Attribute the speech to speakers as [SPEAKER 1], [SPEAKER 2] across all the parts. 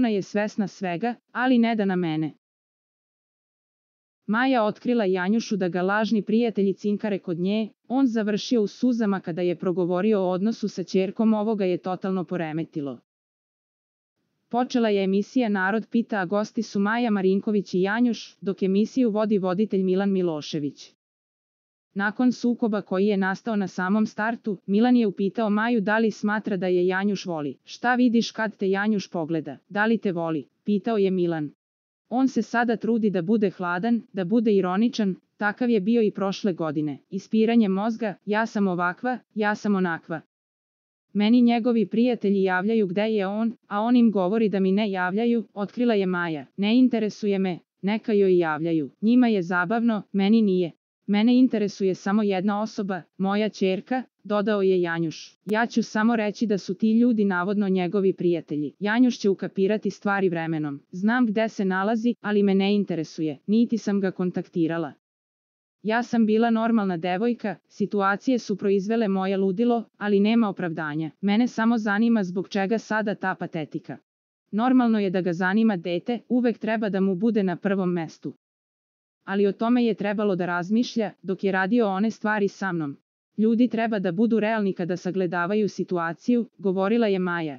[SPEAKER 1] potpuno je svesna svega, ali ne da na mene. Maja otkrila Janjušu da ga lažni prijatelji cinkare kod nje, on završio u suzama kada je progovorio o odnosu sa ćerkom, ovoga je totalno poremetilo. Počela je emisija Narod pita, a gosti su Maja Marinković i Janjuš, dok emisiju vodi voditelj Milan Milošević. Nakon sukoba koji je nastao na samom startu, Milan je upitao Maju da li smatra da je Janjuš voli. Šta vidiš kad te Janjuš pogleda, da li te voli, pitao je Milan. On se sada trudi da bude hladan, da bude ironičan, takav je bio i prošle godine. Ispiranje mozga, ja sam ovakva, ja sam onakva. Meni njegovi prijatelji javljaju gde je on, a on im govori da mi ne javljaju, otkrila je Maja. Ne interesuje me, neka joj javljaju. Njima je zabavno, meni nije. Mene interesuje samo jedna osoba, moja ćerka, dodao je Janjuš. Ja ću samo reći da su ti ljudi navodno njegovi prijatelji. Janjuš će ukapirati stvari vremenom. Znam gde se nalazi, ali me ne interesuje, niti sam ga kontaktirala. Ja sam bila normalna devojka, situacije su proizvele moje ludilo, ali nema opravdanja. Mene samo zanima zbog čega sada ta patetika. Normalno je da ga zanima dete, uvek treba da mu bude na prvom mestu. Ali o tome je trebalo da razmišlja, dok je radio one stvari sa mnom. Ljudi treba da budu realni kada sagledavaju situaciju, govorila je Maja.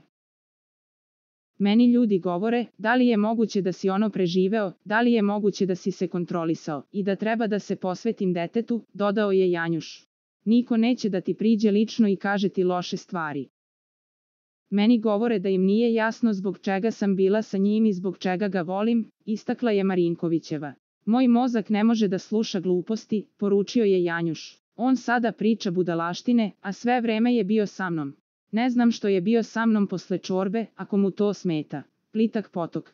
[SPEAKER 1] Meni ljudi govore, da li je moguće da si ono preživeo, da li je moguće da si se kontrolisao, i da treba da se posvetim detetu, dodao je Janjuš. Niko neće da ti priđe lično i kaže ti loše stvari. Meni govore da im nije jasno zbog čega sam bila sa njim i zbog čega ga volim, istakla je Marinkovićeva. Moj mozak ne može da sluša gluposti, poručio je Janjuš. On sada priča budalaštine, a sve vreme je bio sa mnom. Ne znam što je bio sa mnom posle čorbe, ako mu to smeta. Plitak potok.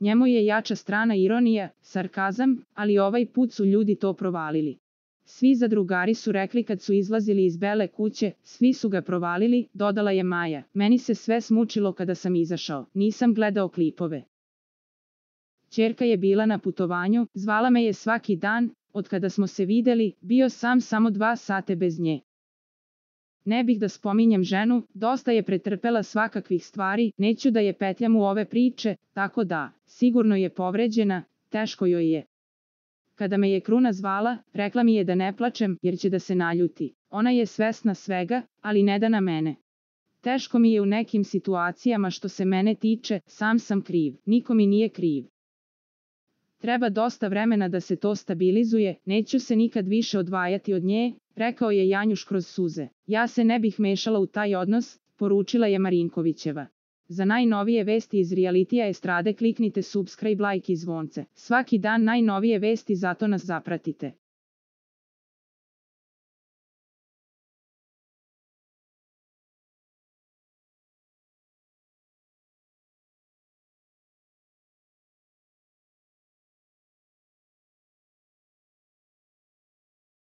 [SPEAKER 1] Njemu je jača strana ironija, sarkazam, ali ovaj put su ljudi to provalili. Svi zadrugari su rekli kad su izlazili iz Bele kuće, svi su ga provalili, dodala je Maja. Meni se sve smučilo kada sam izašao, nisam gledao klipove. Ćerka je bila na putovanju, zvala me je svaki dan, od kada smo se videli, bio sam samo 2 sata bez nje. Ne bih da spominjem ženu, dosta je pretrpela svakakvih stvari, neću da je petljam u ove priče, tako da, sigurno je povređena, teško joj je. Kada me je Kruna zvala, rekla mi je da ne plačem, jer će da se naljuti. Ona je svesna svega, ali ne da na mene. Teško mi je u nekim situacijama što se mene tiče, sam sam kriv, niko mi nije kriv. Treba dosta vremena da se to stabilizuje, neću se nikad više odvajati od nje, rekao je Janjuš kroz suze. Ja se ne bih mešala u taj odnos, poručila je Marinkovićeva. Za najnovije vesti iz realitija estrade kliknite subscribe, like i zvonce. Svaki dan najnovije vesti, zato nas zapratite.